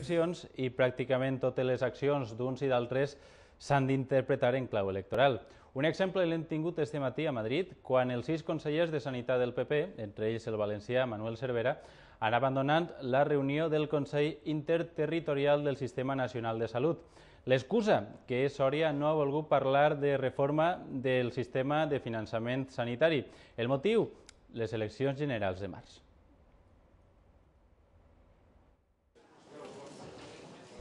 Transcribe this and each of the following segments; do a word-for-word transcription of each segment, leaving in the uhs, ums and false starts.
eleccions i pràcticament totes les accions d'uns i d'altres s'han d'interpretar en clau electoral. Un exemple l'hem tingut este matí a Madrid, quan els sis consellers de Sanitat del P P, entre ells el valencià Manuel Cervera, han abandonat la reunió del Consell Interterritorial del Sistema Nacional de Salut. L'excusa, que Sòria no ha volgut parlar de reforma del sistema de finançament sanitari. El motiu? Les eleccions generals de març.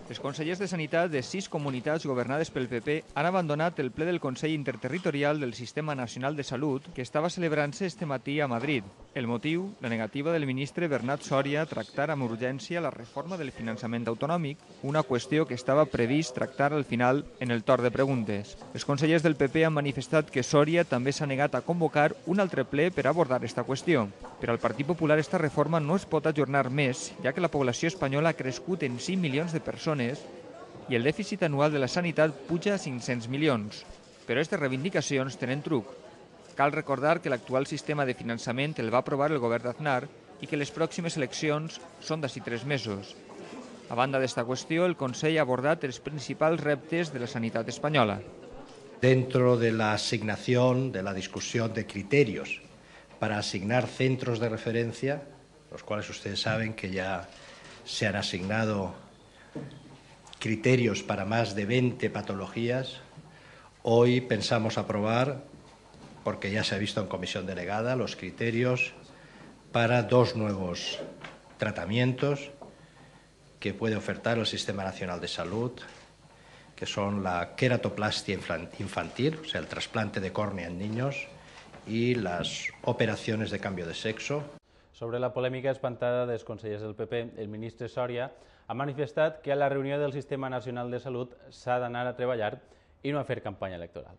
Els consellers de Sanitat de sis comunitats governades pel P P han abandonat el ple del Consell Interterritorial del Sistema Nacional de Salut que estava celebrant-se este matí a Madrid. El motiu, la negativa del ministre Bernat Sòria a tractar amb urgència la reforma del finançament autonòmic, una qüestió que estava previst tractar al final en el torn de preguntes. Els consellers del P P han manifestat que Sòria també s'ha negat a convocar un altre ple per abordar aquesta qüestió. Per al Partit Popular esta reforma no es pot ajornar més, ja que la població espanyola ha crescut en cinc milions de persones i el dèficit anual de la sanitat puja a cinc-cents milions. Però aquestes reivindicacions tenen truc. Cal recordar que l'actual sistema de finançament el va aprovar el govern d'Aznar i que les pròximes eleccions són d'ací tres mesos. A banda d'esta qüestió, el Consell ha abordat els principals reptes de la sanitat espanyola. Dentro de la asignación, de la discusión de criterios para asignar centros de referencia, los cuales ustedes saben que ya se han asignado criterios para más de veinte patologías. Hoy pensamos aprobar, porque ya se ha visto en comisión delegada, los criterios para dos nuevos tratamientos que puede ofertar el Sistema Nacional de Salud, que son la queratoplastia infantil, o sea, el trasplante de córnea en niños, y las operaciones de cambio de sexo. Sobre la polèmica espantada dels consellers del P P, el ministre Sòria ha manifestat que a la reunió del Sistema Nacional de Salut s'ha d'anar a treballar i no a fer campanya electoral.